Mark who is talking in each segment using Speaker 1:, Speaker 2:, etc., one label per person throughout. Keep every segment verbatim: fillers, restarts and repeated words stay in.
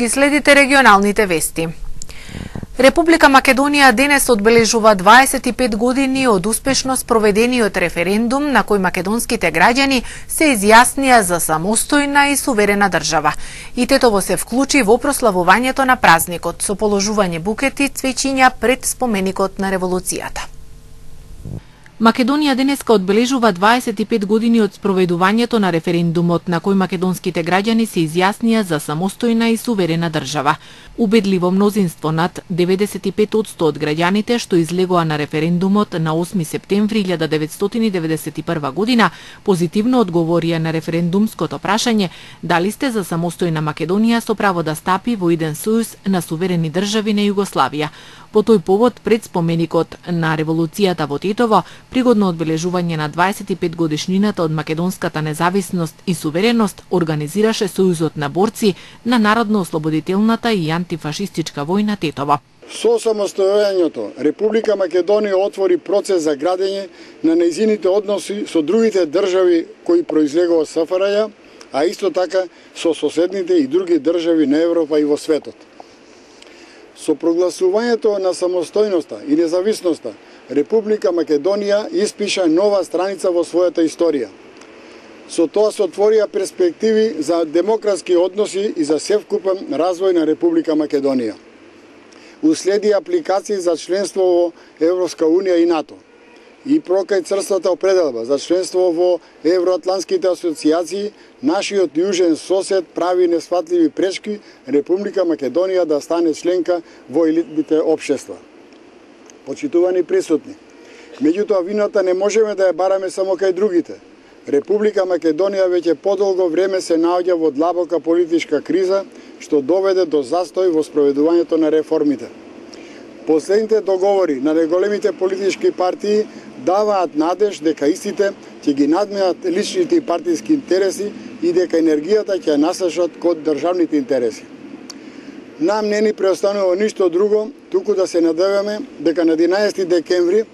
Speaker 1: Ги следите регионалните вести. Република Македонија денес одбележува дваесет и пет години од успешно спроведениот референдум на кој македонските граѓани се изјаснија за самостојна и суверена држава. И Тетово се вклучи во прославувањето на празникот со положување букети цвеќиња пред споменикот на револуцијата. Македонија денеска одбележува дваесет и пет години од спроведувањето на референдумот на кој македонските граѓани се изјаснија за самостојна и суверена држава. Убедливо мнозинство над деветдесет и пет одсто од граѓаните што излегоа на референдумот на осми септември илјада деветстотини деведесет и прва година позитивно одговорија на референдумското прашање дали сте за самостојна Македонија со право да стапи во иден сојуз на суверени држави на Југославија. По тој повод, пред споменикот на револуцијата во Тетово, пригодно одбележување на дваесет и пет годишнината од македонската независност и сувереност, организираше Сојузот на борци на Народно-ослободителната и антифашистичка војна Тетово.
Speaker 2: Со самостојањето, Република Македонија отвори процес за градење на нејзините односи со другите држави кои произлегува од СФРЈ, а исто така со соседните и други држави на Европа и во светот. Со прогласувањето на самостојноста и независноста, Република Македонија испиша нова страница во својата историја. Со тоа се отворија перспективи за демократски односи и за севкупен развој на Република Македонија. Уследи апликации за членство во Европска унија и НАТО. И прокај црствата определба за членство во евроатлантските асоциации, нашиот јужен сосед прави несфатливи пречки Република Македонија да стане членка во елитните општества. Почитувани присутни, меѓутоа вината не можеме да ја бараме само кај другите. Република Македонија веќе подолго време се наоѓа во длабока политичка криза, што доведе до застој во спроведувањето на реформите. Последните договори на најголемите политички партии даваат надеж дека истите ќе ги надминат личните и партиски интереси и дека енергијата ќе насочат кон државните интереси. Нам не ни преостанува ништо друго, туку да се надеваме дека на единаесети декември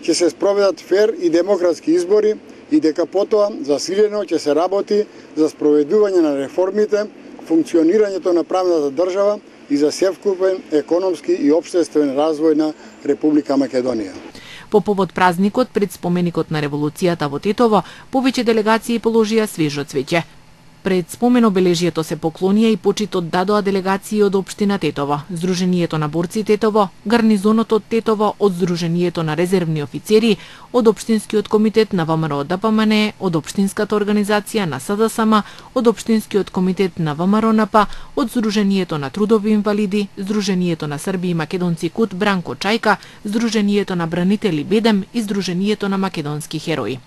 Speaker 2: ќе се спроведат фер и демократски избори и дека потоа засилено ќе се работи за спроведување на реформите, функционирањето на правната држава и за севкупен економски и општествен развој на Република Македонија.
Speaker 1: По повод празникот пред споменикот на револуцијата во Тетово, повеќе делегации положија свежо цвеќе. Пред спомен обележието се поклонија и почитот дадоа делегации од општина Тетово, Сдруженијето на борци Тетово, Гарнизонот од Тетово, од Сдруженијето на резервни офицери, од Општинскиот комитет на ВМРО ДПМН, од Општинската организација на СДСМ, од Општинскиот комитет на ВМРО-НП, од Сдруженијето на трудови инвалиди, Сдруженијето на срби и македонци КУТ Бранко Чајка, Сдруженијето на бранители Бедем и Сдруженијето на македонски херои.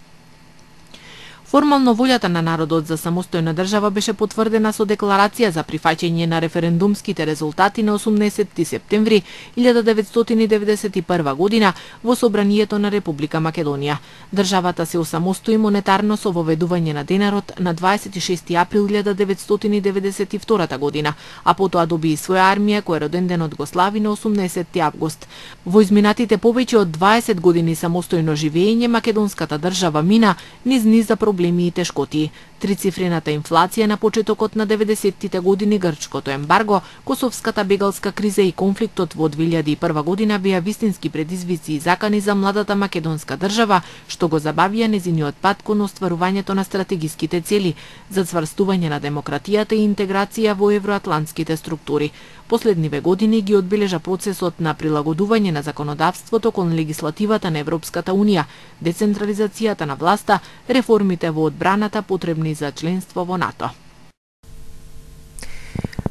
Speaker 1: Формално волјата на народот за самостојна држава беше потврдена со декларација за прифаќање на референдумските резултати на осумнаесети септември илјада деветстотини деветдесет и прва година во Собранието на Република Македонија. Државата се осамостои монетарно со воведување на денарот на дваесет и шести април илјада деветстотини деветдесет и втора година, а потоа доби и своја армија која роден денот го слави на осумнаесети август. Во изминатите повеќе од дваесет години самостојно живење македонската држава мина низ низ проблеми и тешкоти. Трицифрената инфлација на почетокот на деветдесеттите години, грчкото ембарго, косовската бегалска криза и конфликтот во две илјади и прва година беа вистински предизвици и закани за младата македонска држава, што го забавија незиниот пат кон остварувањето на стратегиските цели за цврстување на демократијата и интеграција во евроатлантските структури. Последниве години ги одбележа процесот на прилагодување на законодавството кон легислативата на Европската унија, децентрализацијата на власта, реформите во одбраната потребни за членство во НАТО.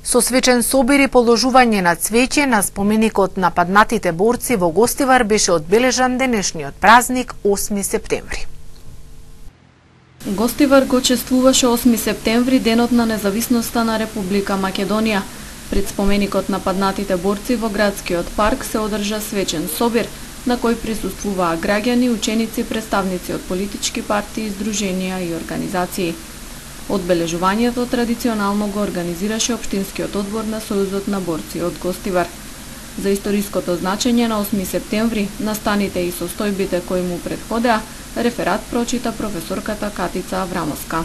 Speaker 1: Со свечен собир и положување на цвеќе на споменикот на паднатите борци во Гостивар беше одбележан денешниот празник осми септември.
Speaker 3: Гостивар го чествуваше осми септември, денот на независноста на Република Македонија. Пред споменикот на паднатите борци во градскиот парк се одржа свечен собир, на кој присуствуваа граѓани, ученици, представници од политички партии, здруженија и организации. Одбележувањето традиционално го организираше Општинскиот одбор на Сојузот на борци од Гостивар. За историското значење на осми септември, настаните и состојбите кои му претходеа, реферат прочита професорката Катица Аврамовска.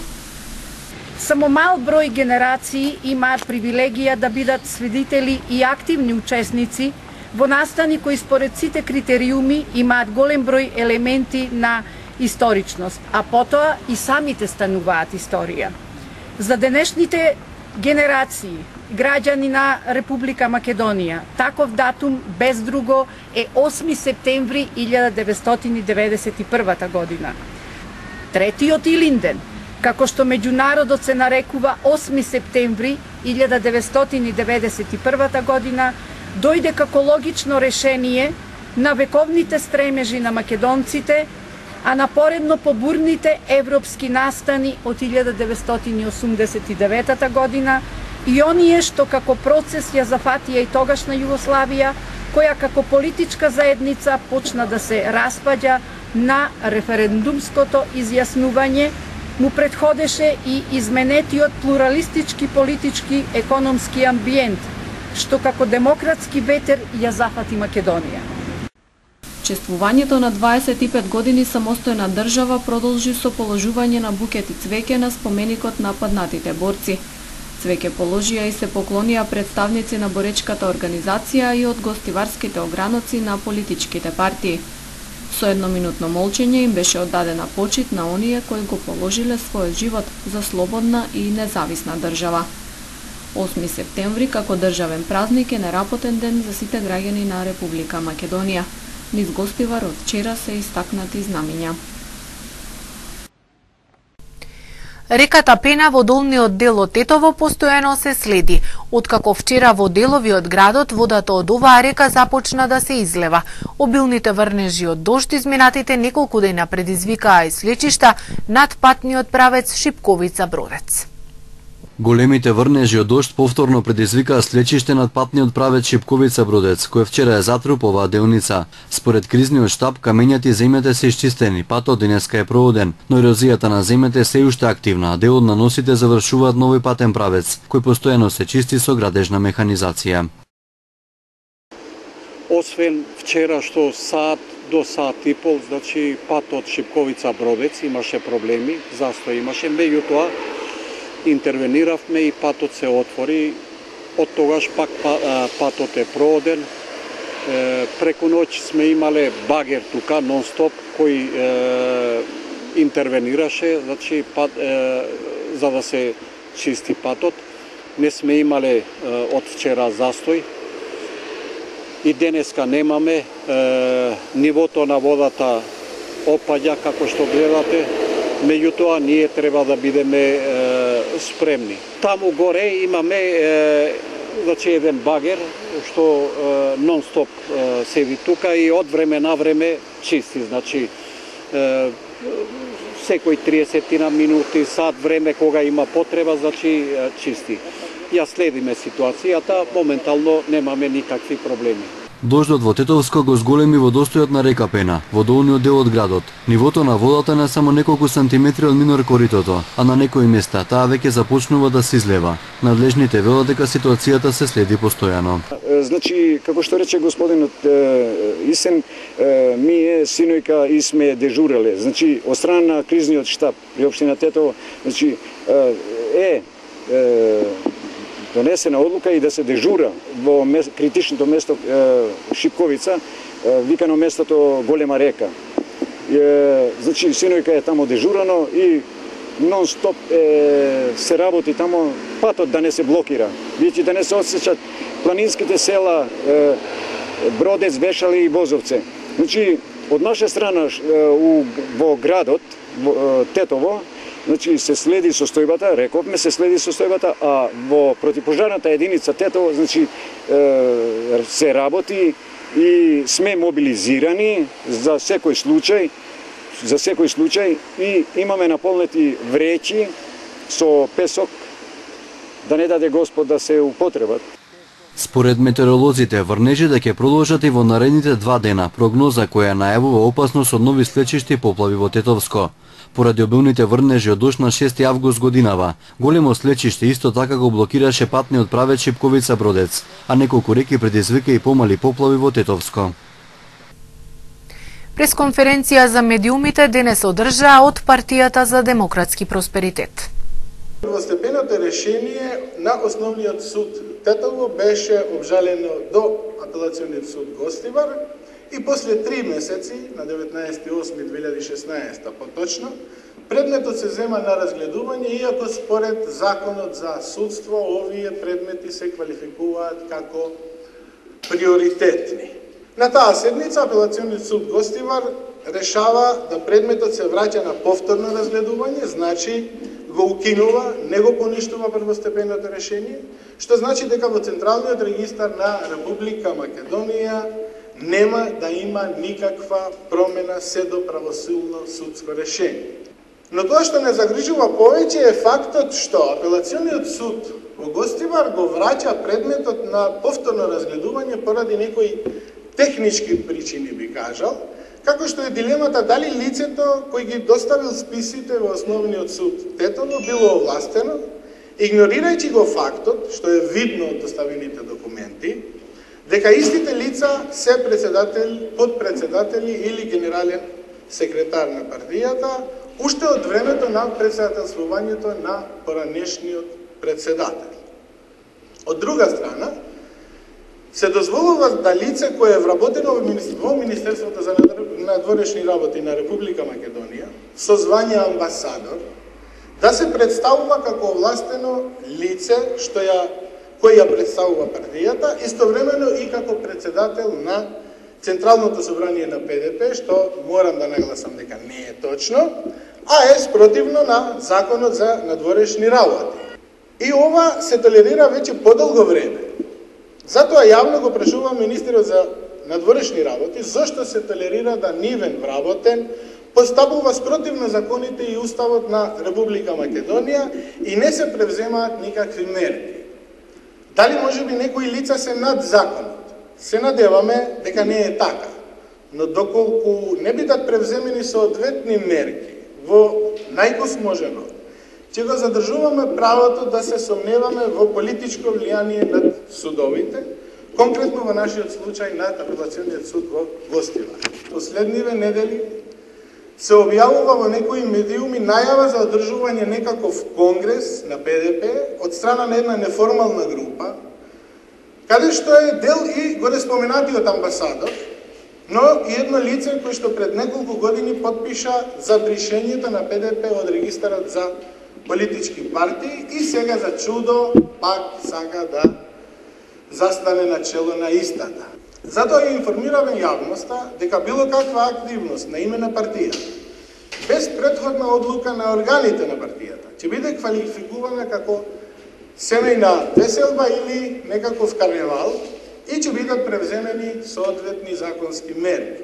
Speaker 4: Само мал број генерации имаат привилегија да бидат свидетели и активни учесници во настани кои според сите критериуми имаат голем број елементи на историчност, а потоа и самите стануваат историја. За денешните генерации, граѓани на Република Македонија, таков датум без друго е осми септември илјада деветстотини деветдесет и прва година. Третиот Илинден, како што меѓународот се нарекува осми септември илјада деветстотини деветдесет и прва година, дојде како логично решение на вековните стремежи на македонците, а напоредно побурните европски настани од илјада деветстотини осумдесет и девета година и оние што како процес ја зафатија и тогашна Југославија, која како политичка заедница почна да се распаѓа на референдумското изјаснување, му претходеше и изменетиот плуралистички политички економски амбиент, што како демократски ветер ја зафати Македонија.
Speaker 3: Чествувањето на дваесет и пет години самостојна држава продолжи со положување на букети цвеќе на споменикот на паднатите борци. Цвеќе положија и се поклонија представници на боречката организација и од гостиварските ограноци на политичките партии. Со едноминутно молчење им беше оддадена почит на оние кои го положиле својот живот за слободна и независна држава. осми септември како државен празник е неработен ден за сите граѓани на Република Македонија. Низ Гостивар од вчера се истакнати знамиња.
Speaker 1: Реката Пена во долниот дел од Тетово постојано се следи. Откако вчера во делови од градот водата од оваа река започна да се излева. Обилните врнежи од дожд изминатите неколку дена предизвикаа и слечишта над патниот правец Шипковица-Бродец.
Speaker 5: Големите врнежи од дожд повторно предизвикаа слечиште над патниот правец Шипковица-Бродец, кој вчера е затруп оваа делница. Според кризниот штаб, камењата и земјата се исчистени, патот денеска е проводен, но ерозијата на земјата е се уште активна, а дел од наносите завршуваат нови патен правец, кој постојано се чисти со градежна механизација.
Speaker 6: Освен вчера што саат до саат и пол, значи патот Шипковица-Бродец имаше проблеми, застој имаше, меѓутоа интервениравме и патот се отвори. Од тогаш пак патот е проводен. Преку ноќ сме имале багер тука нон-стоп кој интервенираше, значи пат, за да се чисти патот. Не сме имале од вчера застој. И денеска немаме. Нивото на водата опаѓа како што гледате. Меѓутоа, ние треба да бидеме е, спремни. Таму горе имаме е, значи еден багер што е, нон-стоп е, седи тука и од време на време чисти. Значи, е, секој триесет минути, сат време кога има потреба, значи е, чисти. Ја следиме ситуацијата, моментално немаме никакви проблеми.
Speaker 5: Дождот во Тетовско го зголеми водостојот на река Пена, во долниот дел од градот. Нивото на водата не само неколку сантиметри од минор коритото, а на некои места таа веќе започнува да се излева. Надлежните велат дека ситуацијата се следи постојано.
Speaker 2: Значи, како што рече господинот Исен, ние синојка и сме дежуреле. Значи, од страна на кризниот штаб при општина Тетово, значи е донесена одлука и да се дежура во критичното место Шипковица, викано местото Голема река. Значи, синојка е тамо дежурано и нон-стоп се работи тамо, патот да не се блокира, веќе да не се осеќат планинските села Бродец, Вешали и Бозовце. Значи, од наша страна во градот Тетово, значи се следи состојбата, рековме се следи состојбата, а во противпожарната единица Тетово, значи се работи и сме мобилизирани за секој случај, за секој случај и имаме наполнети вреќи со песок да не даде Господ да се употребат.
Speaker 5: Според метеоролозите, врнежите ќе продолжат и во наредните два дена, прогноза која најавува опасност од нови слечишти поплави во Тетовско. Поради обилните врнежи од дожд на шести август годинава, големо слечиште исто така го блокираше патниот правец Шипковица-Бродец, а неколку реки предизвика и помали поплави во Тетовско.
Speaker 1: Пресконференција за медиумите денес одржаа од Партијата за демократски просперитет.
Speaker 7: Првостепеното решение на Основниот суд Тетово беше обжалено до Апелациониот суд Гостивар и после три месеци, на деветнаесети август две илјади и шеснаесета поточно, предметот се зема на разгледување, иако според Законот за судство овие предмети се квалификуваат како приоритетни. На таа седница Апелациониот суд Гостивар решава да предметот се враќа на повторно разгледување, значи го укинува, не го поништува првостепеното решение, што значи дека во Централниот регистар на Република Македонија нема да има никаква промена се до правосилно судско решение. Но тоа што не загрижува повеќе е фактот што Апелациониот суд во Гостивар го враќа предметот на повторно разгледување поради некои технички причини, би кажал, како што е дилемата дали лицето кој ги доставил списите во Основниот суд Тетово било овластено, игнорирајќи го фактот, што е видно од доставените документи, дека истите лица се председатели, подпредседатели или генерален секретар на партијата, уште од времето на председателствувањето на поранешниот председател. Од друга страна, се дозволува да лице кое е вработено во Министерството за надворешни работи на Република Македонија со звање амбасадор да се представува како овластено лице што ја кој ја представува партијата, истовремено и како председател на Централното собрание на Пе Де Пе, што морам да нагласам дека не е точно, а е спротивно на Законот за надворешни работи. И ова се толерира веќе подолго време. Затоа јавно го прашувам министерот за надворешни работи зошто се толерира да нивен вработен постапува спротивно законите и уставот на Република Македонија и не се превземаат никакви мерки. Дали можеби некои лица се над законот? Се надеваме дека не е така. Но доколку не бидат превземени соодветни мерки во највозможен род, ќе го задржуваме правото да се сомневаме во политичко влијание над судовите, конкретно во нашиот случај над Апелациониот суд во Гостивар. Последниве недели се објавува во некои медиуми најава за одржување некаков конгрес на Пе Де Пе од страна на една неформална група, каде што е дел и горе споменатиот амбасадор, но и едно лице кој што пред неколку години подпиша за бришењето на Пе Де Пе од регистарот за политички партии и сега за чудо пак сака да застане на чело на истата. Затоа ја информираме јавноста дека било каква активност на име на партија, без претходна одлука на органите на партијата, ќе биде квалификувана како семејна веселба или некаков карневал и ќе бидат превземени соодветни законски мерки.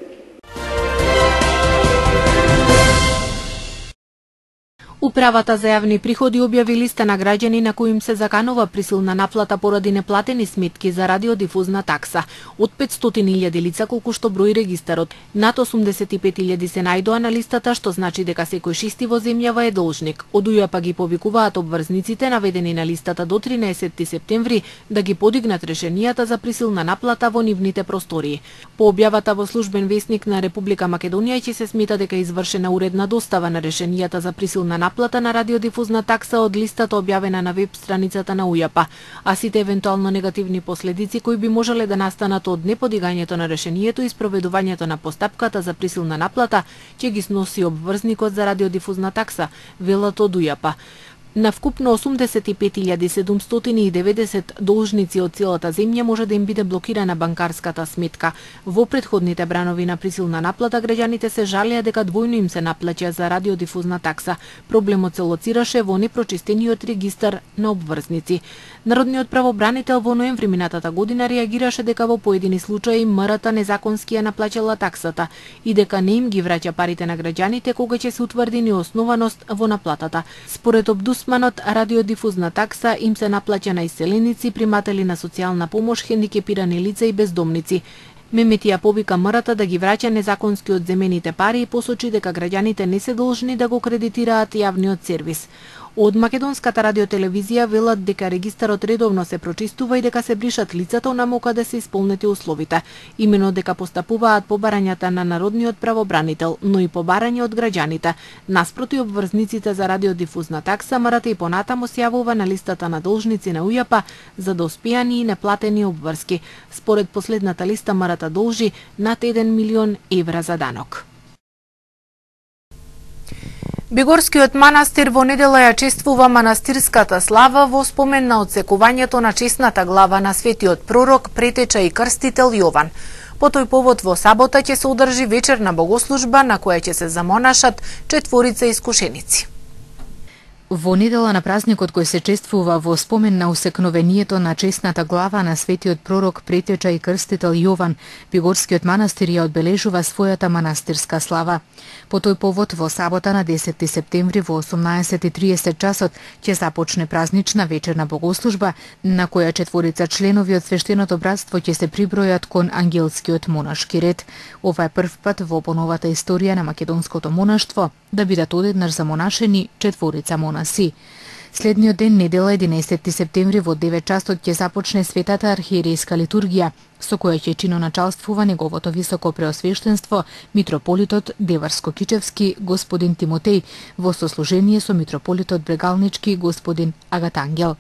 Speaker 1: Управата за јавни приходи објави листа на граѓани на кои им се заканува присилна наплата поради неплатени сметки за радиодифузна такса. Од петстотини илјади лица колку што брои регистарот, над осумдесет и пет илјади се најдоа на листата, што значи дека секој шести во земјава е должник. Од УЈАП ги повикуваат обврзниците наведени на листата до тринаесетти септември да ги подигнат решенијата за присилна наплата во нивните простории. По објавата во службен весник на Република Македонија ќе се смета дека е извршена уредна достава на решенијата за присилна наплата на радиодифузна такса од листата објавена на веб страницата на УЈАП, а сите евентуално негативни последици кои би можеле да настанат од неподигањето на решението и спроведувањето на постапката за присилна наплата ќе ги сноси обврзникот за радиодифузна такса, велат од УЈАП. На вкупно осумдесет и пет илјади седумстотини и деветдесет должници од целата земја може да им биде блокирана банкарската сметка. Во претходните бранови на присилна наплата граѓаните се жалеа дека двојно им се наплаќа за радиодифузна такса. Проблемот се лоцираше во непрочистениот регистар на обврзници. Народниот правобранител во ноември минатата година реагираше дека во поедини случаи МРТ незаконски ја наплаќала таксата и дека не им ги враќа парите на граѓаните кога ќе се утврди неоснованост во наплатата. Според Обдусманот, радиодифузна такса им се наплаќа на иселеници, приматели на социјална помош, хендикепирани лица и бездомници. Меметија повика МРТ да ги враќа незаконски одземените пари и посочи дека граѓаните не се должни да го кредитираат јавниот сервис. Од македонската радиотелевизија велат дека регистарот редовно се прочистува и дека се бришат лицата онаму да се исполнети условите. Имено дека постапуваат побарањата на народниот правобранител, но и побарање од граѓаните. Наспроти обврзниците за радиодифузна такса, МРТ и понатаму се јавува на листата на должници на УЈАП за доспеани и неплатени обврски. Според последната листа МРТ должи над еден милион евра за данок. Бигорскиот манастир во недела ја чествува манастирската слава во спомен на отсекувањето на чесната глава на светиот пророк, претеча и крстител Јован. По тој повод во сабота ќе се одржи вечерна богослужба на која ќе се замонашат четворица искушеници. Во недела на празникот кој се чествува во спомен на усекновението на чесната глава на светиот пророк, претеча и крстител Јован, Бигорскиот манастир ја одбележува својата манастирска слава. По тој повод во сабота на десети септември во осумнаесет и триесет часот ќе започне празнична вечерна богослужба на која четворица членови од свештеното братство ќе се прибројат кон ангелскиот монашки ред. Ова е прв пат во поновата историја на македонското монаштво да бидат одеднаш замонашени четворица монаси. Следниот ден, недела единаесети септември во девет часот ќе започне светата архиерейска литургија, со која ќе чиноначалствува неговото високо преосвештенство митрополитот Деварско-Кичевски господин Тимотеј во сослужение со митрополитот Брегалнички господин Агатангел.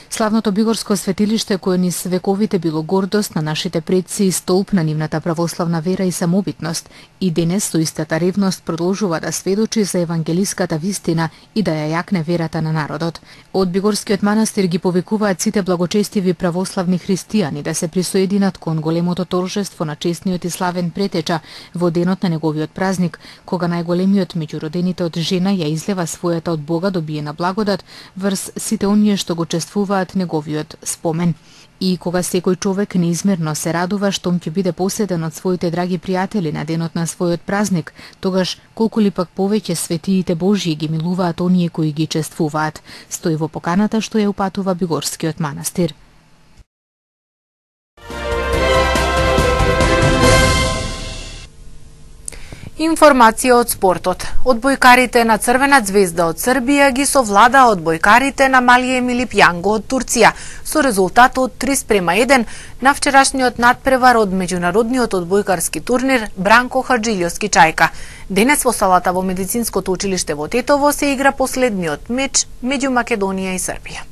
Speaker 1: Славното бигорско светилиште, кое низ вековите било гордост на нашите предци и столб на нивната православна вера и самобитност, и денес со истата ревност продолжува да сведочи за евангелиската вистина и да ја јакне верата на народот. Од Бигорскиот манастир ги повикуваат сите благочестиви православни христијани да се присоединат кон големото торжество на честниот и славен претеча во денот на неговиот празник, кога најголемиот меѓу родените од жена ја излева својата од Бога добиена благодат врз сите оние што го чествуваат неговиот спомен. И кога секој човек неизмерно се радува штом ќе биде поседен од своите драги пријатели на денот на својот празник, тогаш колку ли пак повеќе светиите Божји ги милуваат оние кои ги чествуваат, стои во поканата што ја упатува Бигорскиот манастир. Информација од спортот. Одбојкарите на Црвена звезда од Србија ги совлада одбојкарите на Малије Милипјанго од Турција со резултатот три спрема еден на вчерашниот надпревар од меѓународниот одбојкарски турнир Бранко Хаджилјовски Чајка. Денес во салата во медицинското училиште во Тетово се игра последниот меч меѓу Македонија и Србија.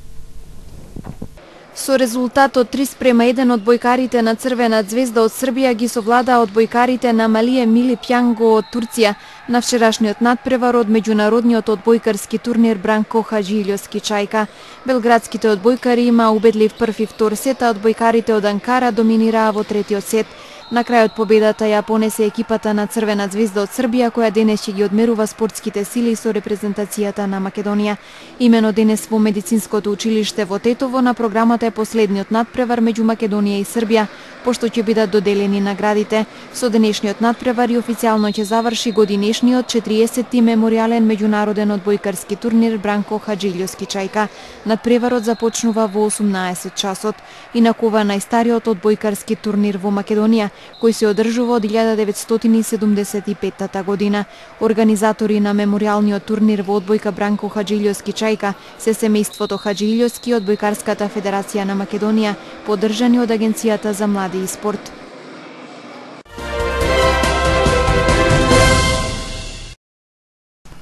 Speaker 8: Со резултатот три спрема еден одбојкарите на Црвена звезда од Србија ги совладаа одбојкарите на Малије Милипјанго од Турција на вчерашниот надпревар од меѓународниот одбојкарски турнир Бранко Хаджилјовски Чајка. Белградските одбојкари има убедлив прв и втор сет, а одбојкарите од Анкара доминираа во третиот сет. На крајот победата ја понесе екипата на Црвена звезда од Србија, која денес ќе ги одмерува спортските сили со репрезентацијата на Македонија. Имено денес во медицинското училиште во Тетово на програмата е последниот надпревар меѓу Македонија и Србија, пошто ќе бидат доделени наградите. Со денешниот надпревар и официјално ќе заврши годинешниот четириесетти меморијален меѓународен одбојкарски турнир Бранко Хаджилјовски Чајка. Надпреварот започнува во осумнаесет часот. Инаку ова најстариот одбојкарски турнир во Македонија, кој се одржува од илјада деветстотини и седумдесет и петта година. Организатори на меморијалниот турнир во одбојка Бранко Хаджилјовски Чајка се семејството Хаджилјовски и Одбојкарската федерација на Македонија, поддржани од Агенцијата за млади и спорт.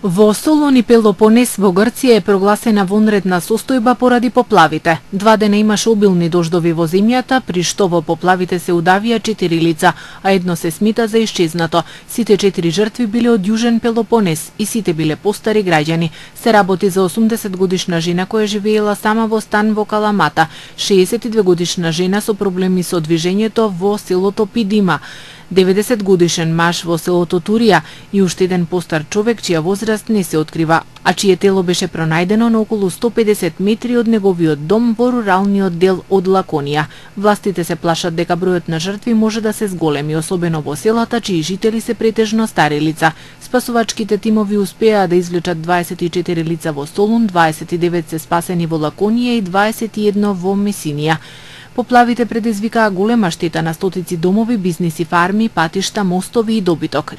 Speaker 1: Во Солон и Пелопонес во Грција е прогласена вонредна состојба поради поплавите. Два дена имаше обилни дождови во земјата, при што во поплавите се удавија четири лица, а едно се смита за исчезнато. Сите четири жртви биле од Јужен Пелопонес и сите биле постари граѓани. Се работи за осумдесет годишна жена која живеела сама во стан во Каламата, шеесет и две годишна жена со проблеми со движењето во селото Пидима, деветдесет годишен маж во селото Турија и уште еден постар човек чија возраст не се открива, а чие тело беше пронајдено на околу сто педесет метри од неговиот дом во руралниот дел од Лаконија. Властите се плашат дека бројот на жртви може да се зголеми, особено во селата чии жители се претежно стари лица. Спасувачките тимови успеа да извлечат дваесет и четири лица во Солун, дваесет и девет се спасени во Лаконија и дваесет и едно во Месинија. Поплавите предизвикаа голема штета на стотици домови, бизниси, фарми, патишта, мостови и добиток.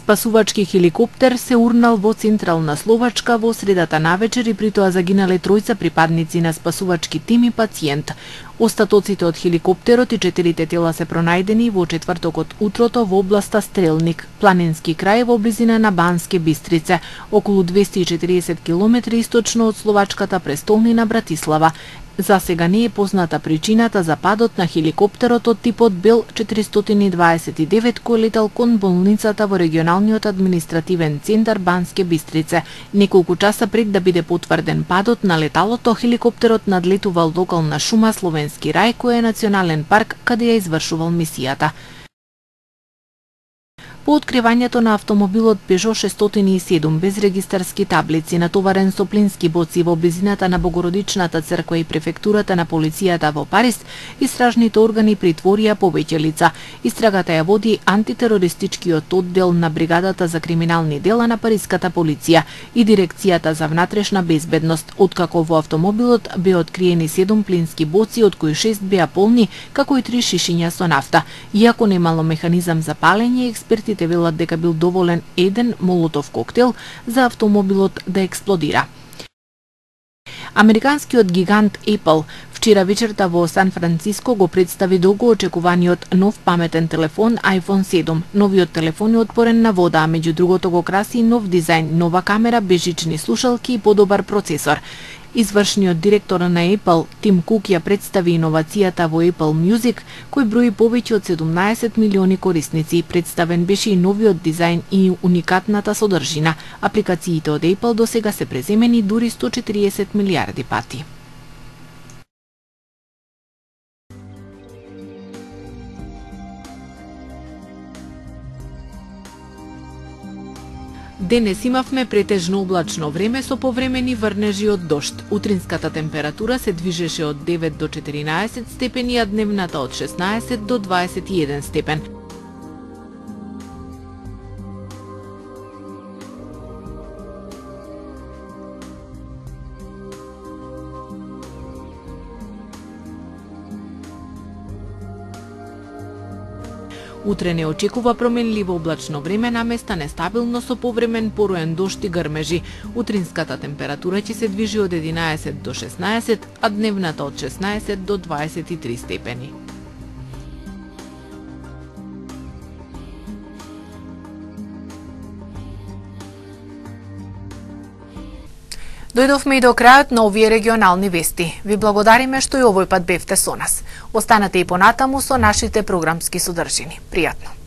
Speaker 1: Спасувачки хеликоптер се урнал во централна Словачка во средата навечер и при тоа загинале тројца припадници на спасувачки тим и пациент. Остатоците од хеликоптерот и четирите тела се пронајдени во четвртокот утрото во областа Стрелник, планински крај во близина на Банске Бистрице, околу двесте и четириесет километри источно од словачката престолнина Братислава. За сега не е позната причината за падот на хеликоптерот од типот Бел четиристотини и дваесет и девет кој летал кон болницата во регионалниот административен центар Банске Бистрице. Неколку часа пред да биде потврден падот на леталото, хеликоптерот надлетувал локална шума Словенски рај, кој е национален парк каде ја извршувал мисијата. По откривањето на автомобилот Peugeot шестстотини и седум без регистарски таблици, натоварен со плински боци во близината на Богородичната црква и префектурата на полицијата во Париз, истражните органи притворија повеќе лица. Истрагата ја води антитерористичкиот оддел на бригадата за криминални дела на париската полиција и дирекцијата за внатрешна безбедност, откако во автомобилот беа откриени седум плински боци, од кои шест беа полни, како и три шишиња со нафта. Иако немало механизам за палење, експерти те велат дека бил доволен еден молотов коктел за автомобилот да експлодира. Американскиот гигант Apple вчера вечерта во Сан Франциско го представи долго очекуваниот нов паметен телефон iPhone седум. Новиот телефон е отпорен на вода, а меѓу другото го краси нов дизајн, нова камера, бежични слушалки и подобар процесор. Извршниот директор на Apple, Тим Кук, ја представи иновацијата во Apple Music, кој брои повеќе од седумнаесет милиони корисници. Представен беше и новиот дизајн и уникатната содржина. Апликациите од Apple до сега се преземени дури сто четириесет милиарди пати. Денес имавме претежно облачно време со повремени врнежи од дожд. Утринската температура се движеше од девет до четиринаесет степени, а дневната од шеснаесет до дваесет и еден степен. Утре не очекува променливо облачно време, наместа нестабилно со повремен пороен дожд и грмежи. Утринската температура ќе се движи од единаесет до шеснаесет, а дневната од шеснаесет до дваесет и три степени. Дојдовме и до крајот на овие регионални вести. Ви благодариме што и овој пат бевте со нас. Останете и понатаму со нашите програмски содржини. Пријатно!